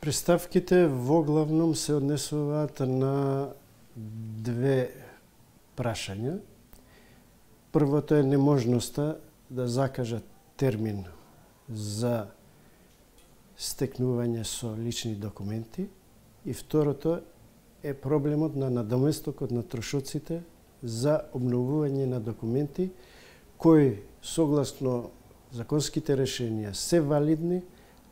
Приставките во главном се однесуваат на две прашања. Првото е неможноста да закажат термин за стекнување со лични документи и второто е проблемот на надоместокот на трошоците за обновување на документи кои согласно законските решенија се валидни,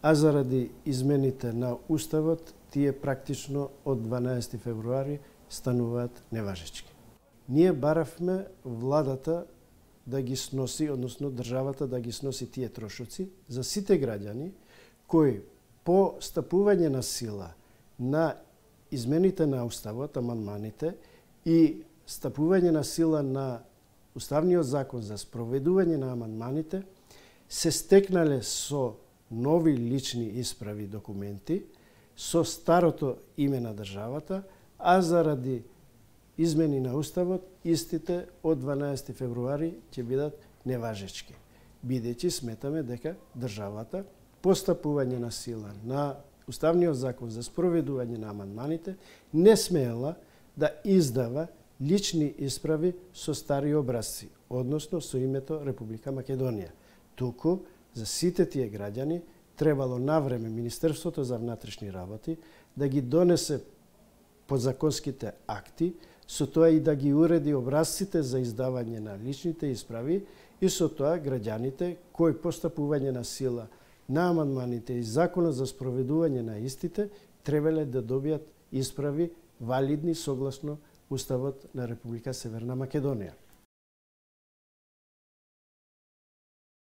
а заради измените на Уставот тие практично од 12 февруари стануваат неважечки. Ние баравме владата да ги сноси, односно државата да ги сноси тие трошоци за сите граѓани кои по стапување на сила на измените на Уставот, амандманите и стапување на сила на Уставниот закон за спроведување на амандманите се стекнале со нови лични исправи документи со старото име на државата, а заради измени на Уставот истите од 12 февруари ќе бидат неважечки, бидејќи сметаме дека државата по стапување на сила на Уставниот закон за спроведување на амандманите не смеела да издава лични исправи со стари образци, односно со името Република Македонија. Туку за сите тие граѓани требало навреме Министерството за внатрешни работи да ги донесе подзаконските акти, со тоа и да ги уреди образците за издавање на личните исправи и со тоа граѓаните кои постапување на сила на амандманите и законот за спроведување на истите требале да добијат исправи валидни согласно Уставот на Република Северна Македонија.